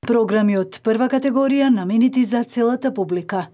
Програми од прва категорија наменети за целата публика.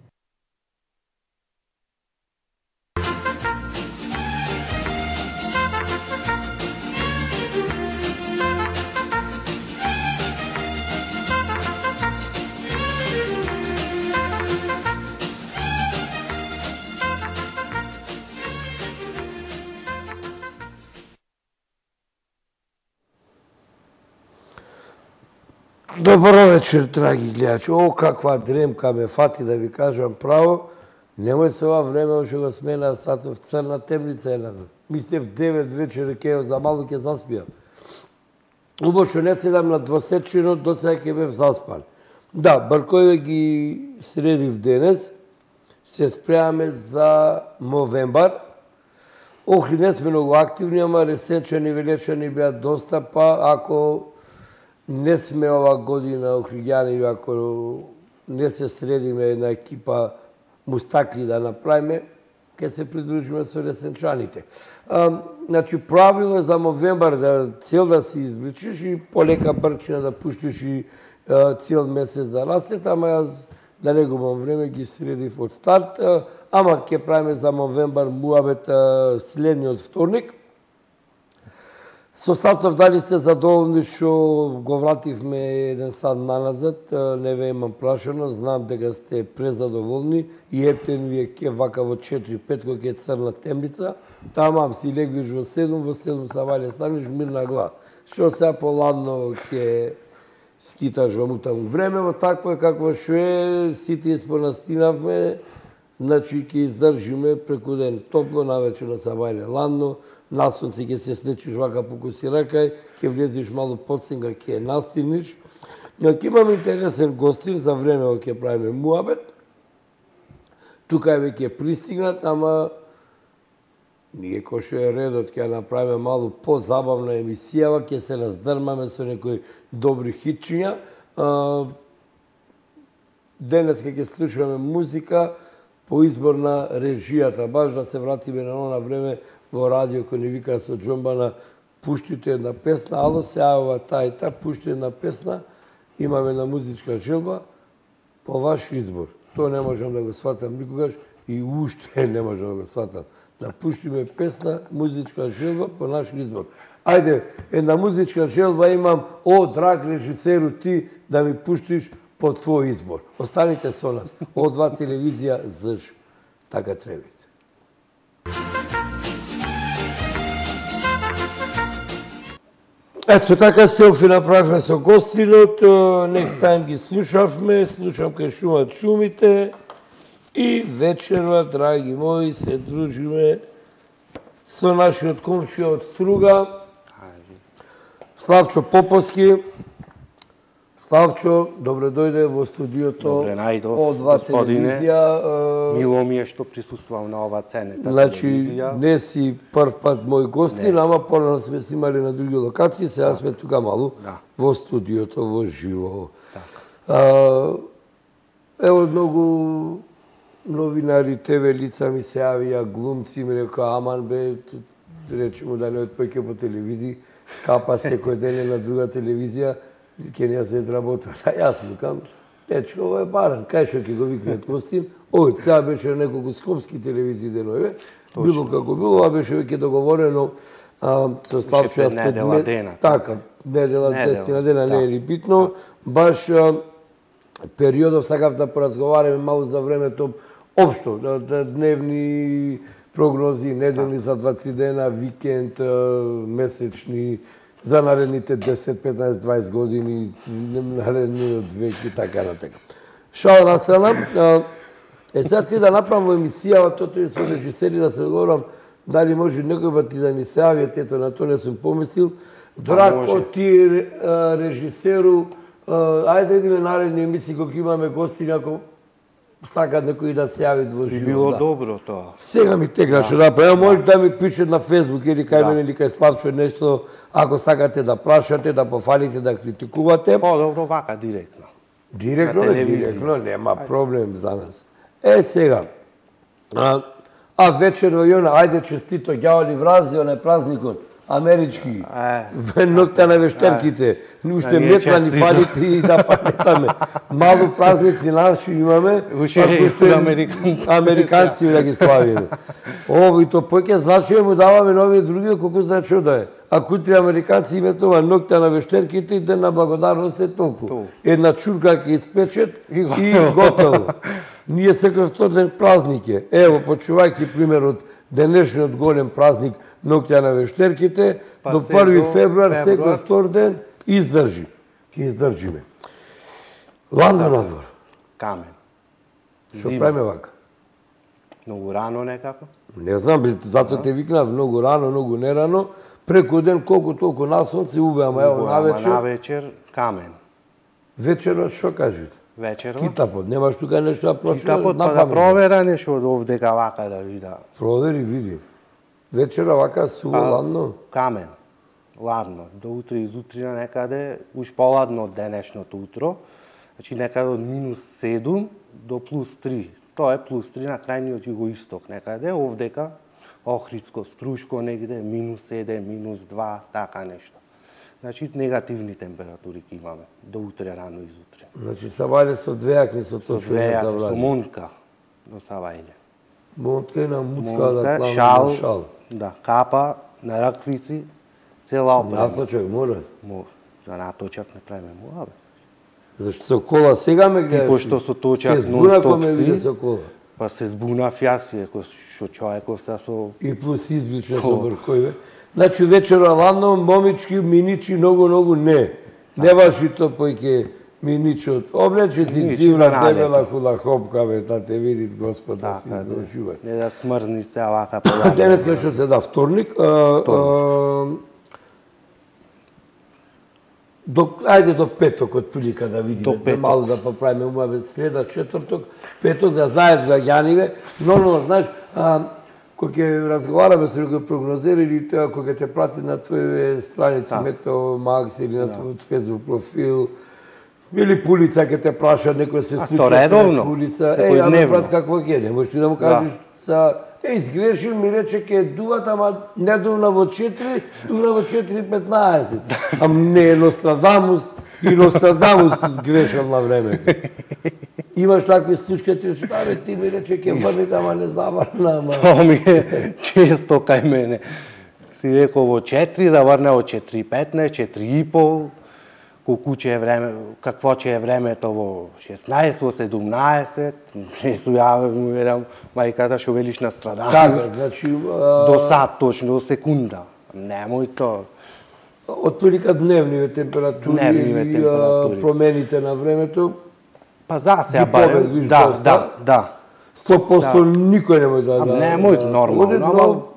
Добро вечер, драги гледачи. О, каква дремка ме фати, да ви кажам право. Немој се ова време, што го смена сатов црна темница една. Мислев 9 вечер, за мало ќе заспијам. Убаво што не седам на двосечено, до сега ќе бев заспан. Да, Бркојве ги средив денес. Се спремаме за Мовембар. Охри, не сме многу активни, ама ресенчани, велечани беа доста, па ако не сме ова година охриѓани, ако не се средиме една екипа мустакли да направиме, ќе се придружиме со ресенчаните. Значи, правило е за Мовембар да цел да се избличиш и полека брчина да пуштиш и цел месец да растет, ама јас да не губам време ги средив од старт, ама ќе правиме за Мовембар муабет следниот вторник. Со Сатов, дали сте задоволни што го вративме еден сад наназад, не ве имам прашано, знам дека сте презадоволни и ептен ви е ке вака во 4-5 кога е црна темница, тамам си легвиш во 7 са вале станеш мирна глава. Што сега поладно ќе скиташ во мутаму времево, такво е какво што е, сите испонастинавме, значи ќе издржиме преку ден топло, навечер на сабајле ладно, на сонце ќе се слечиш вака покуси ракај, ќе влезеш малу подсенга, ќе настиниш. Ќе имаме интересен гостин за време ќе правиме муабет. Тука веќе пристигнат, ама ние кој што е редот ќе направиме малу позабавна емисија, ќе се раздрмаме со некои добри хитчиња. Денес ќе слушаме музика по избор на режијата, баш да се вратиме на она време во радио кој ни вика со џомбана, пуштите една песна, ало се јавува та и та, пушти една песна, имаме на музичка желба, по ваш избор. Тоа не можам да го сватам никогаш и уште не можам да го сватам. Да пуштиме песна, музичка желба, по наш избор. Ајде, една музичка желба имам, о, драг режисеру, ти да ми пуштиш по твој избор. Останите со нас. О2 телевизија, ЗЖ. Така требите. Ето така селфи направивме со гостинот, next time ги слушавме, слушам кај шумат шумите и вечерва, драги мои, се дружиме со нашиот комшија од Струга, Славчо Поповски. Славчо, добре дојде во студиото О2 телевизија. Мило ми е што присуствувам на ова ценета телевизија. Не си прв пат мој гостин, ама порано сме снимали на други локации, сега сме тука малу во студиото, во живо. Ево, многу новинари, ТВ лица ми се јавија, глумци ми рекоа, аман бе, речемо да не отпојке по телевизија, скапа секој ден на друга телевизија, ќе не ја се работа. Јас викам, дечко, ово е баран, кај што ќе го викнат гостин, овој сега беше на неколку скопски телевизии денове, било како било, ова беше веќе договорено со Славчо, јас недела дена. Така, недела, 10 дена, не е ни битно, баш периодов сакав да поразговараме малку за времето, општо, дневни прогнози, неделни за 2-3 дена, викенд, месечни, за наредните 10, 15, 20 години, наредниот век и така натека. Шал на страна, сега ти да направам во емисијава, тоа е со режисери да се договорам, дали може некој пат да ни се јавиат, ето на тоа не сум помислил. Драко, ти режисеру, ајде идеме наредни емисии кога имаме гости, ако сакат некој да се јави во живот. Било добро тоа. Сега ми текна што направи. Може да ми пишат на Фейсбук или кај мене или кај Славчо нешто, ако сакате да прашате, да пофалите, да критикувате. Добро вака директно. Директно, нема проблем за нас. Сега. Вечер во Јона, ајде честито, ѓавали врази, онај празникот. амерички. Ноќта на вештерките. Уште метлани фалите и да пакетаме. Мало празници наши имаме. Уште американци да ги славиме. Ово и то поќе значи му даваме нови други колку значи да е. Ако утре американци имат ова ноќта на вештерките и ден на благодарност е толку. Една чурка ќе испечет и готово. Ние секој втор ден празник е. Ево, почувајќи пример од денешниот голем празник ноќта на вештерките, до 1 февруар секој втор ден издржи. Ќе издржиме. Ладно надвор. Камен. Што правиме вака? Многу рано некако? Не знам, затоа те викнав многу рано, многу нерано. Преку ден колку толку на сонце убе, ама ево навечер. Навечер камен. Вечерот што кажете? Вечерот? Китапот, немаш тука нешто да прочиташ? Китапот па да провера нешто од овдека вака да вида. Провери, види. Вечера вака суво ладно? Камен. Ладно. До утре изутрина некаде, уж поладно од денешното утро. Значи некаде од -7 до +3. Тоа е +3 на крајниот југоисток некаде, овдека Охридско, Струшко негде, -7, -2, така нешто. Значи, негативни температури ќе имаме, до утре, рано изутре. Значи, Савајле со двејакни со тоа што не Со Монтка до Савајле. Монтка и на Муцка да кламе шал. Да, капа, на раквици, цела опрема. Наточак, мора? За наточак не правиме мора, бе. Зашто со кола сега ме гледаш? Ти пошто со точак нон-стоп си, со кола. Па се збунав јас, што човеков се со... И плюс избична со бркојве. Значи вечера ладно, момички, миничи, многу не. Не важи то појке миничот. Облече си цивна, дебела хула хопка, бе, да те видит Господ да си издолжува. Не да смрзни се вака по денеска што се да, вторник. Ајде до петок од прилика да видиме, за мало да поправиме ума, среда, четврток, петок, да знаат граѓаниве. Нормално, знаеш, кога ќе разговараме со некој прогнозер или тоа кога те прати на твоје страници, Метео Макс или на твојот фейсбук профил, или пулица ќе те прашаат некој се случи на пулица, ама брат какво ќе, не можеш ти да му кажеш изгрешил ми рече ке дуват, ама не дувна во 4, дувна во 4:15. Ама не е Нострадамус и Нострадамус изгрешил на времето. Имаш такви случаи, ти ми рече ке врнете, ама не заврна, ама... Тоа ми е често кај мене. Си рекол во 4, заврне во 4:15, 4:30, колку ќе е време, какво ќе е времето во 16, во 17, не су ја му верам мајката што велиш на Страдамус. Така, значи... До сат точно, до секунда. Немој тоа. Од прилика дневниве температури и промените на времето, па за сега барем, да. 100% никој не може да... Немој нормално,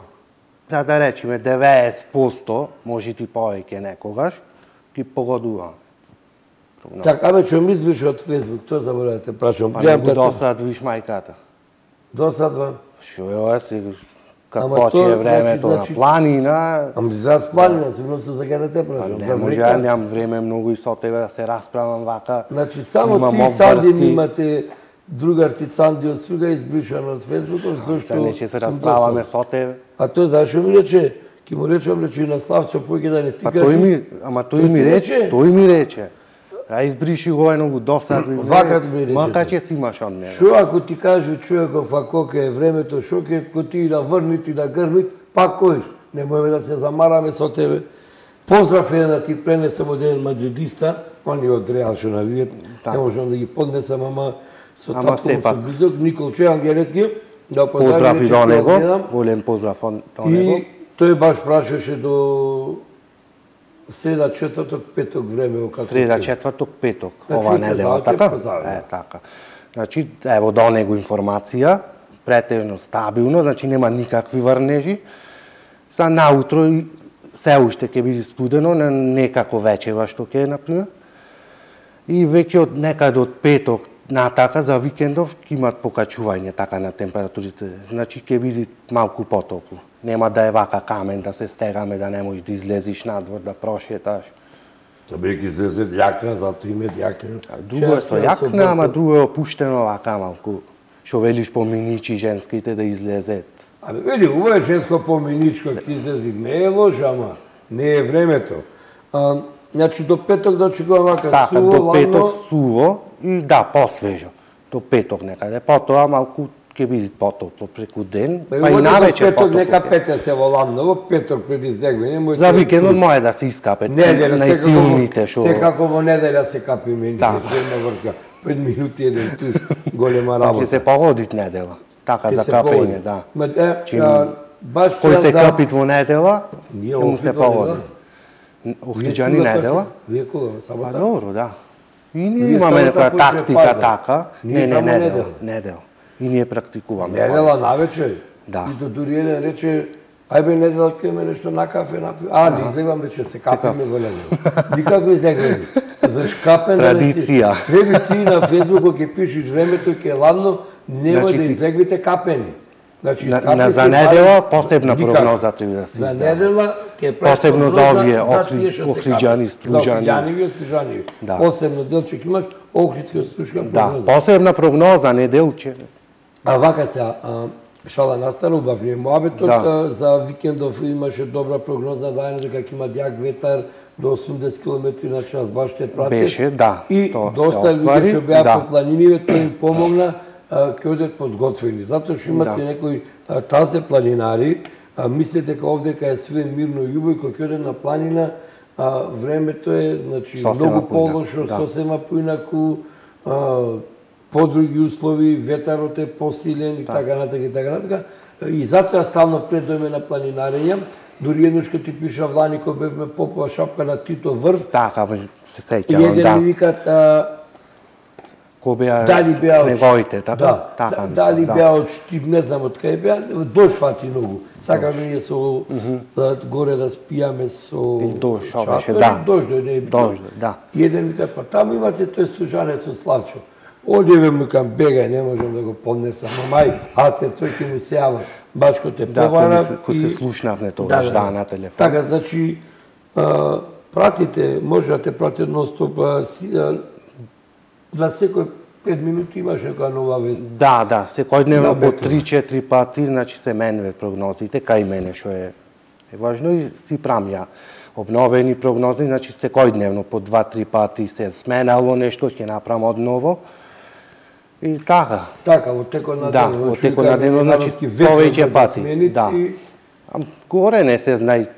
ама да речеме 90%, може и повеќе некогаш, ги погодува. Така, абе, што мислиш од Фейсбук, тоа заборава да те прашам. Па не го досадвиш мајката. Досадвам? Што е ова си, какво ќе е времето на планина... Ама за планина, сигурно сум за да те прашам. Не може, ја немам време многу и со тебе да се расправам вака. Значи, само ти Цанди имате другар ти Цанди од Струга избришан од Фейсбукот, зашто... Не ќе се расправаме со тебе. А тој зашто ми рече? Ки му речам, рече и на Славчо, појќе да не ти кажи. Ама тој ми рече. А избриши го едно го досадви. Вакат ми рече. Мака ќе си имаш од мене. Шо ако ти кажу човеков, ако е времето, шо ќе ти да врнит и да грмит, пак којш. Немојме да се замараме со тебе. Поздрав еден да ти пренесам од еден мадридиста, они од Реал што навијат, не можам да ги поднесам, ама со татко со близок, Николче Ангелески, да поздрав и до него, голем поздрав до него. И тој баш прашаше до среда, четврток, петок време. Среда, четврток, петок, ова недела, така? Така. Значи, ево до него информација, претежно стабилно, значи нема никакви врнежи. Са наутро се уште ќе биде студено, некако вечева што ќе е, например. И веќе од некаде од петок натака за викендов ќе имат покачување така на температурите. Значи ќе биде малку потопло. Нема да е вака камен, да се стегаме, да не можеш да излезиш надвор, да прошеташ. Бејќи се јакна, зато име јакна. Друго е со јакна, ама друго е опуштено вака малку. Шо велиш поминичи женските да излезет. Абе, види, ова е женско поминичко ќе излези, не е лошо, ама не е времето. Значи до петок да очекувам вака Така, суво, до петок ладно. суво и да, посвежо. До петок некаде. Потоа малку ќе биде потопло преку ден, па и навечер петок потопло. нека пете се во ладново, петок пред издегвање. За викендот може да се искапе. Неделя, најсилните што. секако во неделя се капи мене, една врска. 5 минути еден туш, голема работа. Ќе се погоди недела. Така за капење, да. Баш кој се капит во недела, ние му се погоди. Охриџани недела? Вие кога? Сабота? Па добро, да. И ние имаме некоја тактика така. Не, недела. И ние практикуваме. Недела навечер. Да. И дури еден рече, ајбе недела ќе ме нешто на кафе напи. Не излегувам, рече, се капиме во недела. Никако излегуваме. За шкапен традиција. Треба ти на Фејсбук ќе пишеш времето ќе е ладно, немој да излегвите капени. Значи, за недела посебна прогноза треба да се издаде. За недела ќе прави посебно за овие охриџани, стружани. За охриџани и стружани. Посебно делче ќе имаш охридска стружка прогноза. Да, посебна прогноза, неделче. А вака се, шала настана, убав ни муабетот, за викендов имаше добра прогноза, дајане дека ќе има јак ветар до 80 км на час, баш те прати. Беше, да. И доста луѓе што беа по планиниве, тој им помогна, ќе одат подготвени. Затоа што имате некои тазе планинари, мислите дека овдека е све мирно и љубово, кога ќе одат на планина, времето е, значи, многу полошо, сосема поинаку, подруги услови, ветарот е посилен и така натака и така натака. И затоа стално пред дојме на планинарење, дури еднош кога ти пиша Влани кога бевме попова шапка на Тито врв. Така, се сеќавам, да. И еден ми викат дали беа снеговите, така? Да, дали беа од Штип, не знам од кај беа, дожд фати многу. Сакаме ние со горе да спијаме со дожд, не е битно. И еден ми кажа, па таму имате тој служанец со Славчо. Одеве му кам бегај, не можам да го поднесам. Мај, атерцој ќе ми се јава. Бачко те побарав. Да, кој се слушнавне тогаш, на телефон. Така, значи, пратите, може да те пратят нон-стоп, на секој 5 минути имаш некоја нова вест. Да, секојдневно по 3-4 пати, значи се менуве прогнозите, кај мене што е важно и си правам ја обновени прогнози, значи секојдневно по 2-3 пати се сменало нешто, ќе направам одново. И така. Така, во текот на денот. Да, во текот на денот, значи повеќе пати. Да. Горе не се знај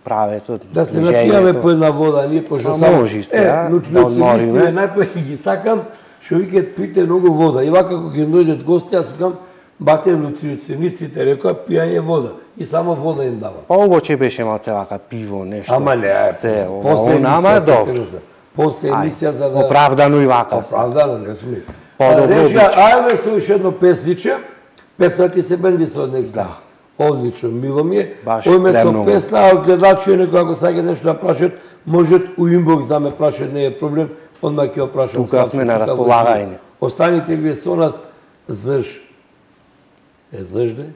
правецот. Да се напијаме по една вода, ние пошто само можи се, нутриционистите најпој ги сакам, што викаат пите многу вода. И вака кога ќе дојдат гости, јас викам бате нутриционистите рекоа пијање вода и само вода им дава. Па обоче беше малце вака пиво нешто. Ама не, после емисија за да оправдано и вака. Оправдано, не сме. Рече, ајме се уште едно песниче. Песна ти се бенди со од некста. Одлично, мило ми е. Ојме со песна, а гледачи некој ако сака нешто да прашат, можат у инбокс да ме прашат, не е проблем, одма ќе го прашам. Тука сме на располагање. Останите вие со нас, заш. Зажде?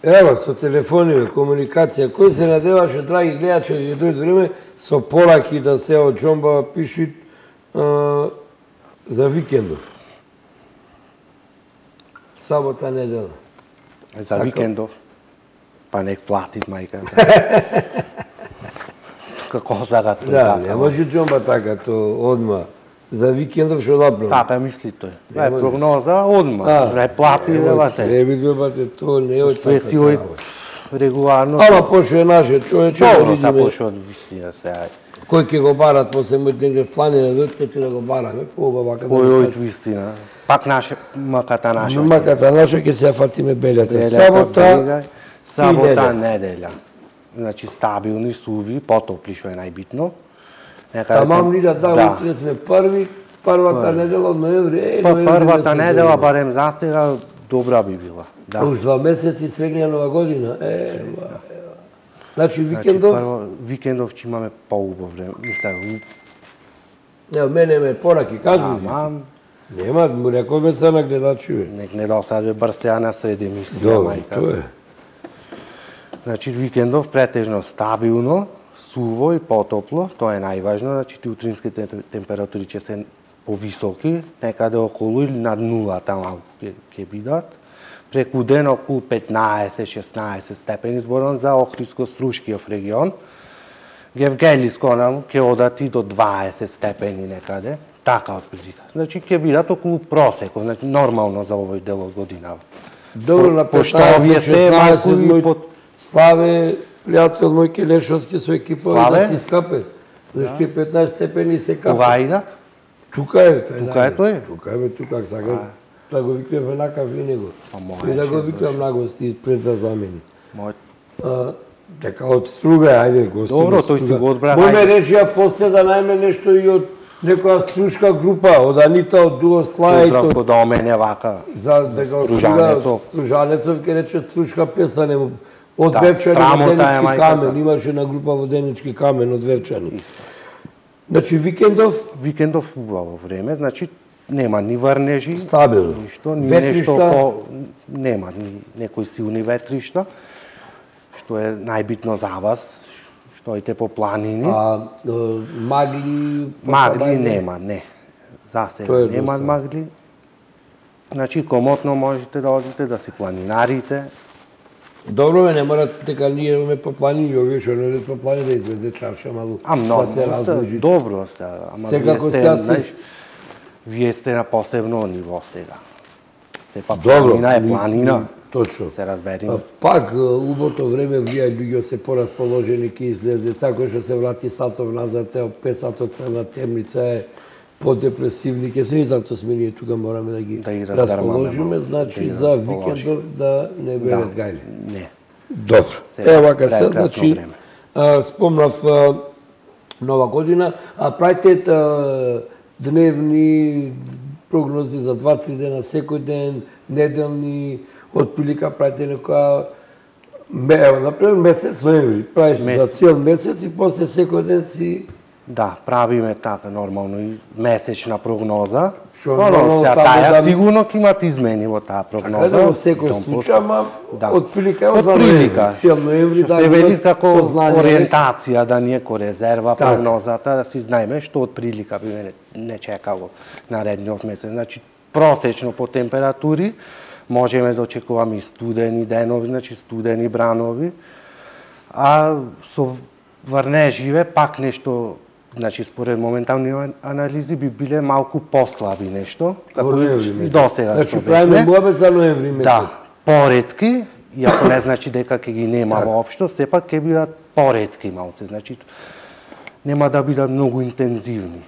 Ево, со телефони, комуникација, кој се надеваше, драги гледачи, да дојде време, со пораки да се од Џомба пишут за викендов. Сабота, недела. За викендов? Па нек платит мајка. Како сака тоа? Да, не може Џомба така, то одма. За викендов што направи. Така мисли тој. Е прогноза одма. Не плати бате. Не би бате тоа не е така. Си ој регуларно. Ама пошо е наше човече да видиме. Добро, пошо од вистина се. Кој ќе го барат после мојте планина дојдете да го бараме, поубава вака. Кој од вистина. Пак наше маката наша. Маката наша ќе се фатиме белјата. Сабота, неделја. Значи стабилни, суви, потопли што е најбитно. Тамам ни да утре сме првата недела од ноември. Првата недела, барем за сега, добра би била. Уж 2 месеци свегнија нова година. Значи викендов? Викендов ќе имаме поубав време. Мисля, мене ме пораки, кажи си. Нема, му рекоме се на гледачиве. Нек не досаде брсеа на сред емисија, мајка. Тоа е. Значи, викендов претежно стабилно, суво и потопло, тоа е најважно, значи утринските температури ќе се повисоки, некаде околу или над нула таму ќе бидат. преку ден околу 15-16 степени зборам за Охридско-Струшкиот регион. Гевгелиско ќе одат и до 20 степени некаде, така отприлика. Значи ќе бидат околу просекот, значи нормално за овој дел од годината. Добро, на 15-16 Славе, пријател мој Келешовски со екипа да си скапе. Зашто 15 степени се капе. Кога идат? Тука е, тука е тој? Тука е, тука, ако сакам. Да го викнем веднакав и него. И да го викнем на гости пред да замени. Дека од Струга, ајде гости. Добро, тој си го одбра. Мој ме речија после да најме нешто и од некоја струшка група, од Анита, од Дуослај. Поздрав до мене вака. За дека Стружанецов ќе рече струшка песна нему. Од Вевчани Воденички камен, имаше на група Воденички камен од Вевчани. Значи Викендов убаво време, значи нема ни врнежи, стабилно. Ништо, ни нешто нема ни некои силни ветришта, што е најбитно за вас, што идете по планини. Магли нема, не. За сега нема магли. Значи комотно можете да одите да си планинарите. Добро не мора дека ние имаме по планини, овие што не по планини да излезе чарша малку. Да се разлучи. Добро се, ама вие сте на посебно ниво сега. Сепак планина е планина. Точно. Се разбериме. Пак убото време влија луѓе се порасположени ке излезе, кој што се врати сатов назад, 5 сатот цела темница е подепресивни, ке се и затоа сме ние тука мораме да ги расположиме, значи за викендов да не берат гајле. Не. Добро. Ева вака се, значи спомнав нова година, а правите дневни прогнози за 2-3 дена секој ден, неделни, отприлика правите некоја например месец ноември, правиш за цел месец и после секој ден си. Да, правиме така нормално и месечна прогноза. Таа сигурно ќе имат измени во таа прогноза. Така да во секој случај, ама отприлика е за цел ноември да се вели како ориентација да ни е ко резерва прогнозата, да си знаеме што отприлика би не чекало наредниот месец. Значи просечно по температури можеме да очекуваме и студени денови, значи студени бранови, а со врнеживе пак нешто, значи според моментални анализи би биле малку послаби нешто, како и досега. Значи правиме муабет за ноември месец. Да, поретки, иако не значи дека ќе ги нема воопшто, сепак ќе бидат поретки малце, значи нема да бидат многу интензивни.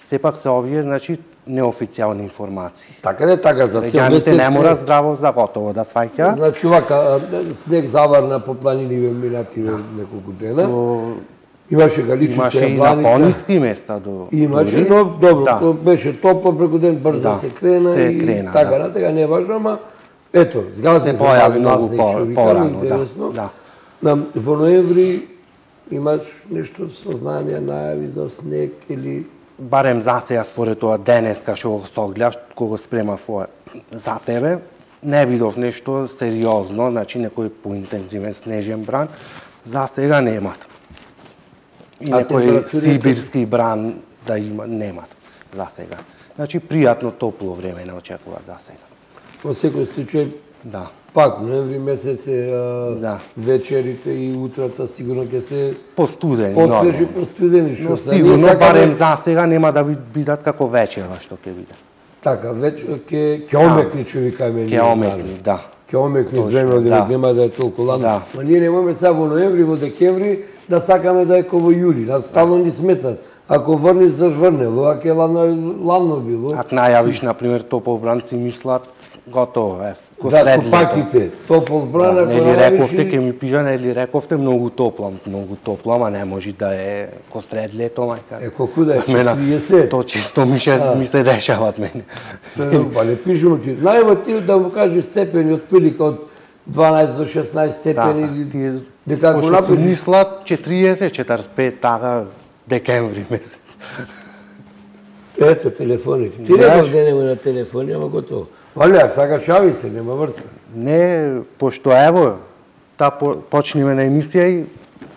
Сепак се овие, значи, неофицијални информации. Така не така за цел месец. Не мора здраво за готово да сваќа. Значи вака снег заварна по планини минати неколку дена. Имаше галичица, имаше и на пониски места до. Имаше, но добро, беше топло преку ден, брзо се крена и така натака, не е важно, ама ето, згази се појави многу порано, да. Во ноември имаш нешто сознание, најави за снег или барем за сега според тоа денеска што го согледав, кога спремав за тебе, не видов нешто сериозно, значи некој поинтензивен снежен бран, за сега немат. И некој сибирски бран да има, немат за сега. Значи пријатно топло време не очекуваат за сега. Во секој случај, да. Пак ноември месец е вечерите и утрата сигурно ќе се постудени, посвежи, постудени, но сигурно барем за сега нема да бидат како вечерва што ќе биде. Така, ќе омекни човекаме. Ќе омекни, да. Ќе омекни време, нема да е толку ладно. Ма ние немаме сега во ноември, во декември да сакаме да е како во јули, нас стално ни сметат. Ако врниш, зажврнело, ако е ладно било. Ако најавиш, например, топол бран, си мислат, готово е. Да, купаките, топол бран, ако најавиш... рековте, ке ми пижа, нели рековте, многу топло, ама не може да е ко сред лето, мајка. Колку да е, 40? То чисто ми се дешават мене. Па не пишемо ти. Најма ти да му кажеш степени од прилика од 12 до 16 степени, дека го направи... Си мислат 40-45, така, декември месец. Ето телефоните. Ти реков денеме на телефони, ама готово. Вале, сакаш шави се, нема врска. Не, пошто ево, почнеме на емисија и...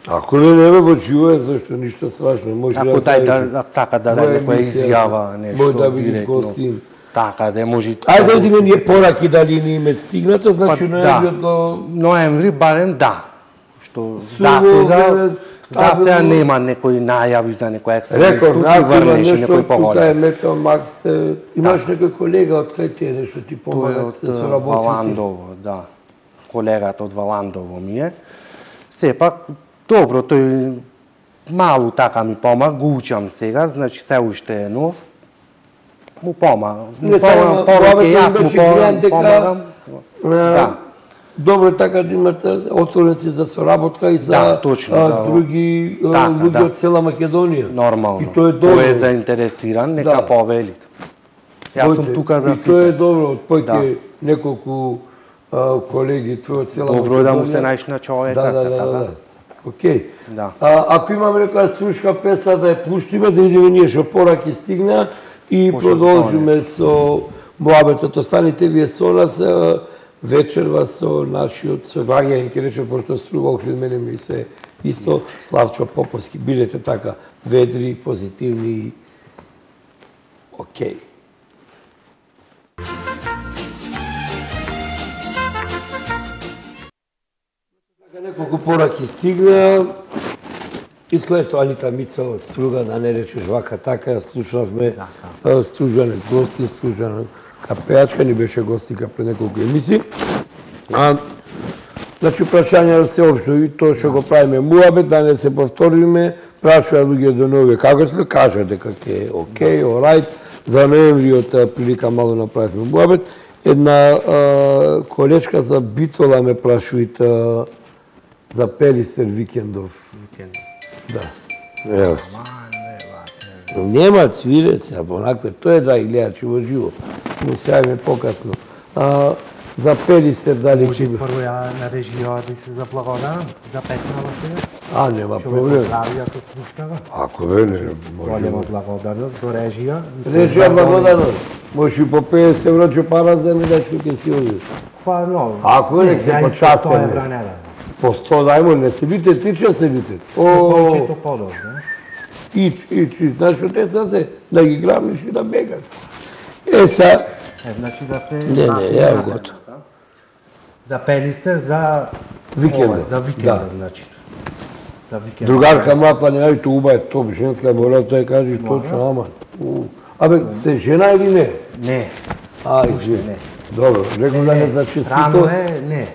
Ако не во живо е, зашто ништо страшно. Ако дај да сака да даде некоја изјава, нешто може да биде гостин. Така, да може... Ајде да видиме ние пораки дали ни име стигнато, значи ноемвриот го... Ноември барем да. Што за сега нема некои најави за некој екстрем студија, врнеш некој поголем. Тука е Метал Макс, имаш некој колега од кај те нешто ти помага да се работи? Валандово, да. Колегата од Валандово ми е. Сепак, добро, тој малу така ми помага, го учам сега, значи се уште е нов. Му помага. Не само пораки, јас му помагам. Добро така да имате отворен си за соработка и за други луѓе од цела Македонија. Нормално. И тоа е добро. Кој е заинтересиран, нека повели. Јас сум тука за сите. И тоа е добро, од појке неколку колеги твои од цела Македонија. Добро е да му се најш на човека. Да. Океј. Ако имаме некоја струшка песна да ја пуштиме, да видиме ние што пораки стигна и продолжиме со муабетот. Останите вие со нас вечерва со нашиот соглаѓање, ќе речем, пошто Струга окрил мене ми се исто, Славчо Поповски. Бидете така ведри, позитивни, океј. Неколку пораки стигна. Иско ето Алита Мица од Струга, да не речеш вака така, слушавме Стружанец гости, Стружан капеачка, ни беше гостика пред неколку емисии. Значи, прашања се општо и тоа што го правиме муабет, да не се повториме, прашува луѓе до нови како се, кажа дека ќе е окей, орайт, за ноемвриот прилика мало направивме муабет. Една колечка за Битола ме прашуваат за Пелистер Викендов. Да. Ево. Нема цвирец, а понакве, тоа е драги гледачи во живо. Му се јавиме покасно. За Пелистер дали може прво ја на режија да се заблагодарам за песната сега? Нема проблем. Ако слушнава. Ако не, може. Голема благодарност до режија. Режија благодарност. Може и по 50 евро ќе пара за дечко ќе си оди. Па но. Ако не се почастаме. По 100 дајмо, не се бите, тича се бите. Повеќето подор, не? Ич. Нашо деца се, да ги грамиш и да бегат. Значи да се... Не, ја готов. За Пелистер, за... Викендот. За викендот, значи. За викендот. Другарка моја планирајте уба е топ, женска мора, тој кажеш точно, ама. Абе, се жена или не? Не. Извини. Добро, рекол да не зачистито. Рано е, не.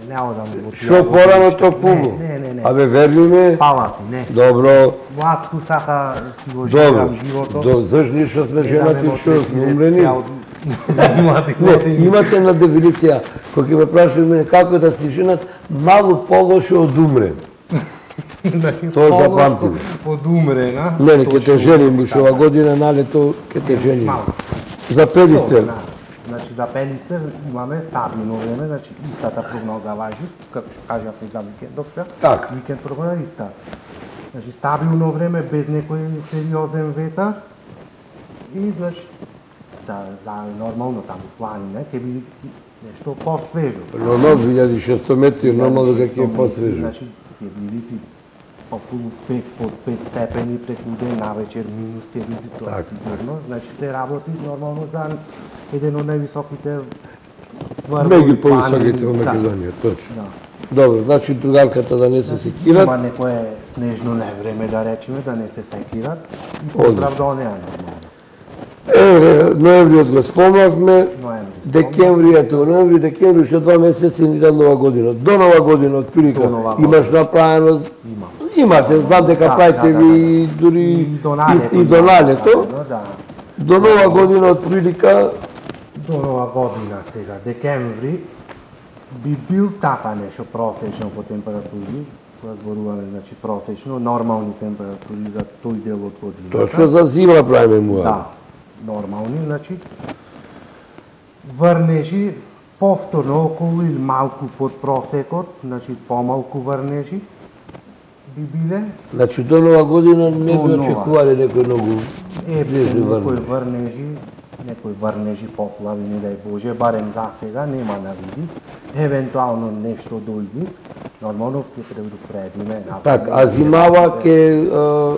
Не одам во тие. Шо порано то пубо? Не. Абе, верни ме? Палати, не. Добро. Младско сака си го живеам животот. Добро, зашто ние што сме женати, што сме умрени? Не, имате една дефиниција, кој ќе ме прашува мене како да си женат, малку полошо од умрен. Тоа запамтим. Од умрена. Не, ќе те женим уште ова година на лето, ќе те женим. За Пелистер. Значи за Пелистер имаме стабилно време, значи истата прогноза важи, како што кажавме за викендот сега. Така. Викенд прогноза иста. Значи стабилно време без некој сериозен ветар. И значи за нормално таму планине ќе биде нешто посвежо. Нормално 2600 метри, нормално дека ќе е посвежо. Значи ќе биде околу 5 под 5 степени преку ден, навечер минус ќе биде тоа сигурно. Значи се работи нормално за еден од највисоките меѓу повисоките во Македонија, точно. Добро, значи другарката да не се секират. Има некое снежно невреме да речеме, да не се секират. Поздрав до неа нормално. Ноемвриот го спомнавме, декември, уште 2 месеци ни да нова година. До нова година, отприлика, имаш направено... Имате, знам дека правите ви дури и до налето. До нова година, отприлика... До нова година сега, декември, би бил така нешто просечно по температури, кога зборуваме, значи просечно, нормални температури за тој дел од годината. Точно за зима правиме муа. Да, нормални, значи врнежи повторно околу или малку под просекот, значи помалку врнежи би биле. Значи до нова година не би очекувале некој многу снежни врнежи. Некои врнежи, поплави, не дај Боже, барем за сега нема на види. Евентуално нешто дојди, нормално ќе предупредиме. Так, а зимава ќе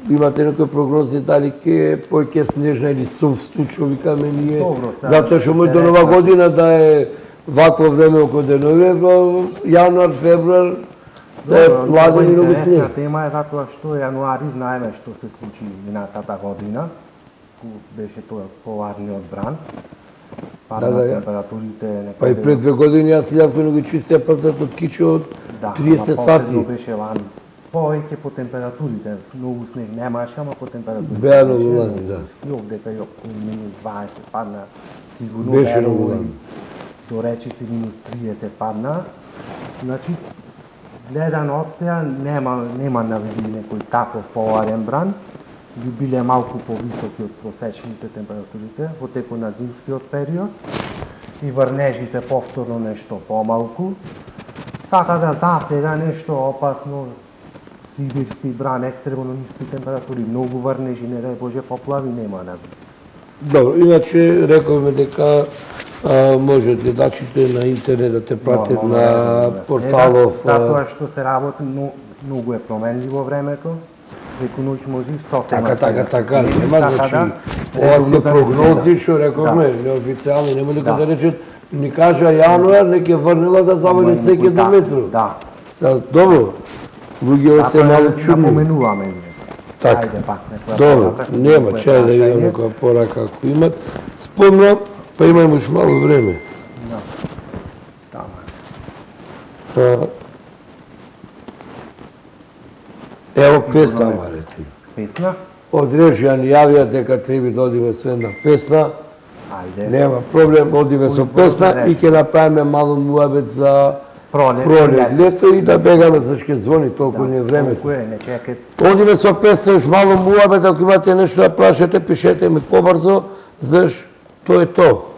имате некои прогнози дали ќе поќе снежна или сув стучо, викаме ние, затоа што може до нова година да е вакво време околу денови, јануар, февруар, да е ладен и многу снег. Тема е затоа што јануари знаеме што се случи минатата година, беше тоа поларниот бран. Падна температурите. Па и пред 2 години јас идав кога го чистија патот од Кичо од 30 сати. Беше ван повеќе по температурите, многу снег немаше, ама по температурите. Беа многу лани, да. Снег дека ја минус 20 падна, сигурно беше многу лани. До речи си минус 30 падна. Значи, гледан од сега нема наведи некој таков поларен бран, би биле малку повисоки од просечните температурите во текот на зимскиот период и врнежите повторно нешто помалку. Така да, сега нешто опасно, сибирски бран, екстремно ниски температури, многу врнежи, не дај Боже поплави, нема наведи. Добро, иначе рековме дека може гледачите на интернет да те пратят на порталов. Затоа што се работи, многу е променливо времето. Преку ноќ можеш сосема. Така, нема значи. Ова се прогнози што рековме, неофицијални, нема дека да речат, ни кажа јануар, неќе врнела да завали секој до метро. Да. Добро, луѓе се малку чудни. Напоменуваме ние. Така, добро, нема, чај да видам некоја порака ако имат. Спомнам, па имајме уште мало време. Ево песна, Марете. Песна? Од Режија ни јавија дека треба да одиме со една песна. Ајде. Нема проблем, одиме со песна и ќе направиме мало муабет за пролет, лето и да бегаме, зашто ќе звони толку не времето. Одиме со песна, уш мало муабет, ако имате нешто да прашате, пишете ми побрзо, зашто тоа е тоа.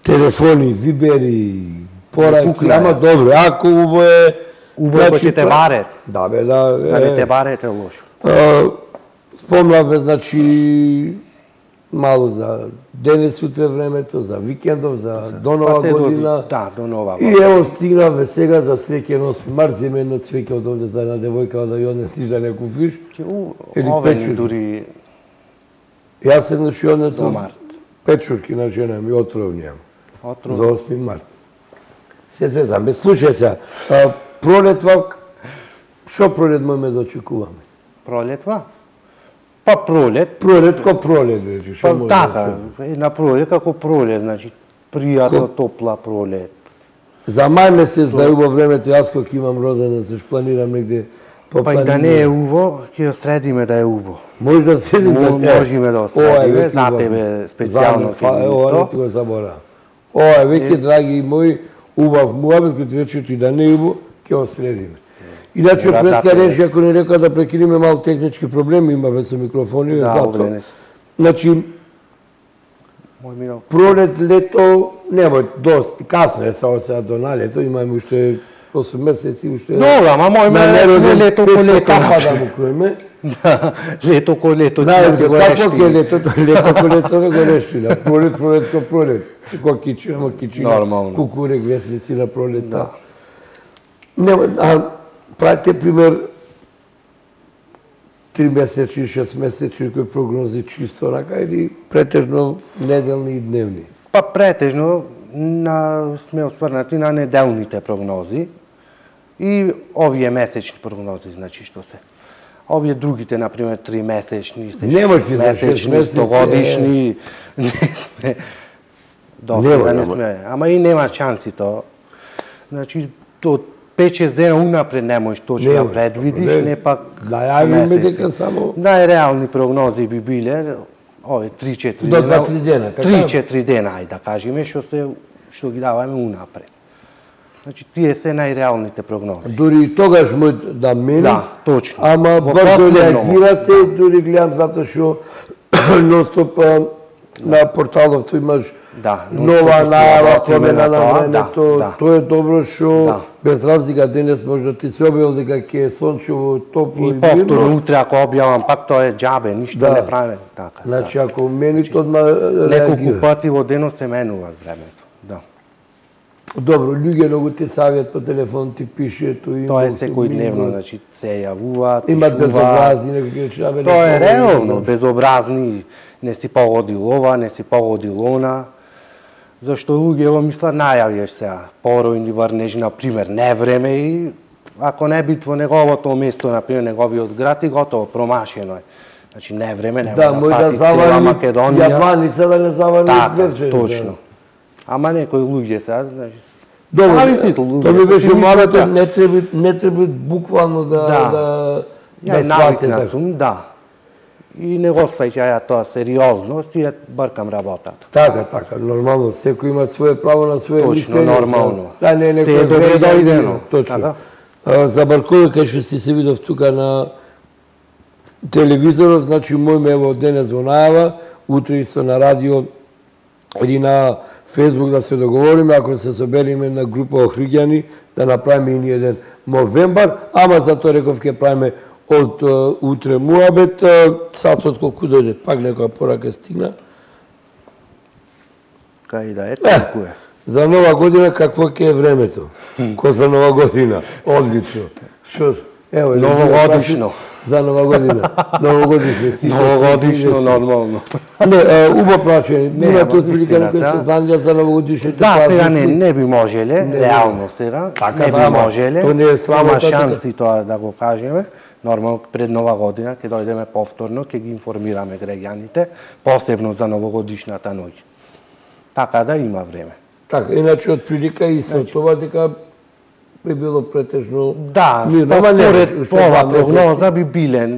Телефони, вибери, пораки, ама добро, ако убо е... Убо е кој те барет. Да, бе, да. Дали те барет е лошо. Спомнавме, значи, мало за денес утре времето, за викендов, за до нова година. Да, до нова година. И ево стигнавме сега за среќен 8 март, земе едно цвеќе од овде за една девојка да ја однесиш да не куфиш. Овен дури... Јас се значи однесов печурки на жена ми, отровни за 8 март. Се зезаме, слушај се, пролетва, шо пролет можеме да очекуваме? Пролетва? Па пролет. Пролет ко пролет, речи, шо може да очекуваме? Така, на пролет како пролет, значи пријатно топла пролет. За мај месец да е убаво времето, јас кога имам родена, се планирам негде по планина. Па и да не е убаво, ќе ја средиме да е убаво. Може да седи да можеме да средиме, за тебе специјално ова не го забора. Ова е веќе, драги мои, убав муабет, кој ти рече и да не е убаво, ќе го средиме. Иначе преска Режија, ако не река да прекинеме мал технички проблеми, имаме со микрофони, затоа. Значи, пролет, лето, немој, доста, касно е само сега до на лето, имаме уште 8 месеци, уште... Добро, ама мојме лето ко лето. Кафа да му кроиме. Лето ко лето, ти го рештили. Лето ко лето не го рештили, пролет ко пролет. Ко кичи, ама кичина, кукурек, веслици на пролета. Правите пример 3 месечни, 6 месечни кои прогнози чисто рака или претежно неделни и дневни? Па претежно сме осврнати на неделните прогнози и овие месечни прогнози, значи што се. Овие другите, например, 3 месечни, 6 месечни, 100 годишни, не сме... Доста не сме, ама и нема шанси тоа. Значи, 5-6 дена унапред не можеш точно да предвидиш, не пак месеци. Најреални прогнози би биле овие 3-4 дена. До 2-3 дена, така? 3-4 дена, ајде да кажеме, што ги даваме унапред. Значи, тие се најреалните прогнози. Дури и тогаш може да мени, да, точно. Ама брзо реагирате, дури гледам затоа што ностоп на порталов тој имаш нова најава, промена на времето, тоа е добро што без разлика денес може да ти се објавил дека ќе е сончево, топло и мирно. И повторно утре ако објавам пак тоа е џабе, ништо не правиме така. Значи ако мените одма неколку пати во денот се менува времето. Да. Добро, луѓе многу ти савјат по телефон, ти пишеат, тоа е секојдневно, значи се јавуваат, имат безобразни некакви речи. Тоа е реално, безобразни, не си погодил ова, не си погодил она. Зашто луѓе мислат најавиш сега, поројни врнежи, например, не време и ако не бит во неговото место, например, неговиот град и готово, промашено е. Значи не време, нема да фати цела Македонија. Јабланица да не завали вечер. Точно. Ама некои луѓе сега, значи, добро, тоа ми беше малото, не треба буквално да сватите. Да. И не го сваќа ја тоа сериозно, си ја бркам работата. Така, нормално, секој има свое право на свое мислење. Точно, нормално. Да, не некој добре дојдено. Точно. Забаркував кај што си се видов тука на телевизорот, значи мојме ево денес во најава, утре исто на радио или на Фейсбук да се договориме, ако се собериме на група охриѓани, да направиме и еден новембар, ама затоа реков ќе правиме од утре муабет, сатот колку дојде, пак некоја порака стигна. Кај да е, толку е. За нова година какво ќе е времето? Ко за нова година? Одлично. Што? Ево, новогодишно. За нова година. Новогодишно. Новогодишно, нормално. Не, убав прашање. Имате отприлика некој сознание за новогодишните празници? За сега не би можеле, реално сега. Не би можеле. То не е срамота. Има шанси тоа да го кажеме. Нормално пред нова година ќе дојдеме повторно, ќе ги информираме граѓаните, посебно за новогодишната ноќ. Така да има време. Така, иначе од прилика исто тоа дека би било претежно мирно. Да, според ова прогноза би биле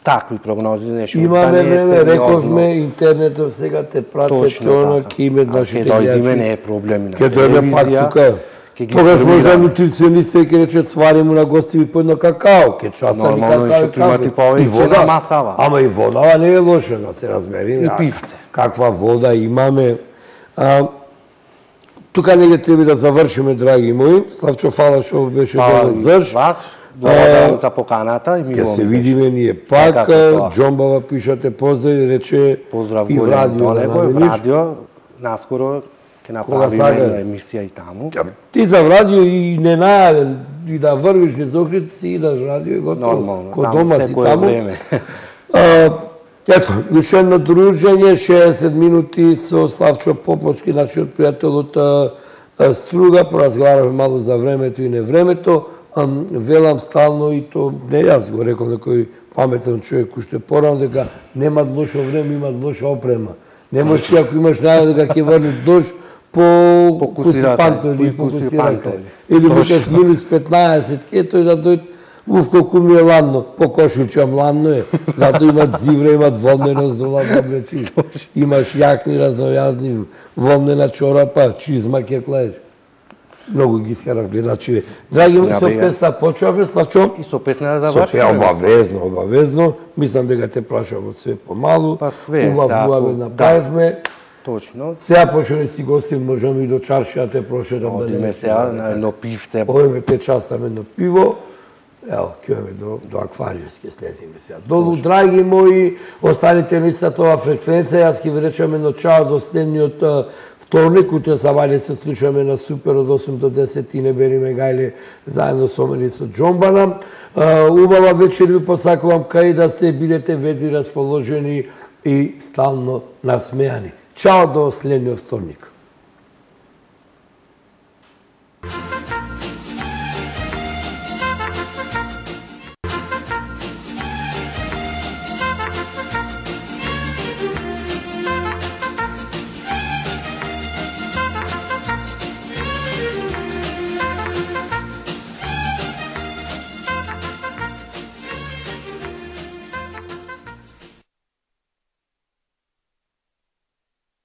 такви прогнози, нешто имаме време, рековме, интернетот сега те прате, тоа ќе име нашите гледачи. Ќе дојдеме, не е проблем на телевизија. Ќе дојдеме пак тука. Тогаш може нутриционисти ќе речат свари му на гостиви по едно какао, ќе частани какао и вода, масава. Ама и вода не е лоша, да се разбери. И пивце. Каква вода имаме. Тука негде треба да завршиме, драги мои. Славчо, фала што беше добро зрж. Благодарам за поканата и ќе се видиме ние пак. Џомбава пишате поздрави, рече и в радио. Наскоро ќе направиме емисија и таму. Ти за радио и не најавен, и да врвиш низ окрит, си идаш радио и готово. Нормално, ко дома си таму. Време. Ето, уште едно дружење, 60 минути со Славчо Поповски, нашиот пријател од Струга, поразговаравме малу за времето и невремето. Велам стално и то, не јас го рекол некој паметен човек уште порано, дека немат лошо време, имат лоша опрема. Не можеш ти ако имаш најава дека ќе врне дожд по кусипанто или по кусирака. Или викаш минус 15, ке тој да дојде, колку ми е ладно, по кошучам ладно е. Зато имат зивра, имат волнено здола добречи. Имаш јакни разнојазни, волнена чорапа, чизма ќе клаеш. Многу ги искарав гледачи. Драги мои, со песна почваме, Славчо. И со песна да завршиме. Обавезно. Мислам дека те прашав од све помалу. Па све, убав направивме. Точно. Сега почне да си гостим, можеме и до чаршија те прошедам. Одиме сега на едно пивце. Одиме те частаме едно пиво. Ево, ќе одиме до аквариус, ќе слезиме сега долу. Драги мои, останите на истата ова фреквенција. Јас ќе ви речам едно чао до следниот вторник. Утре сабајле се слушаме на Супер од 8 до 10 и не бериме гајле заедно со мене и со Џомбана. Убава вечер ви посакувам, кај да сте, бидете ведри расположени и стално насмејани. Чао до следниот вторник.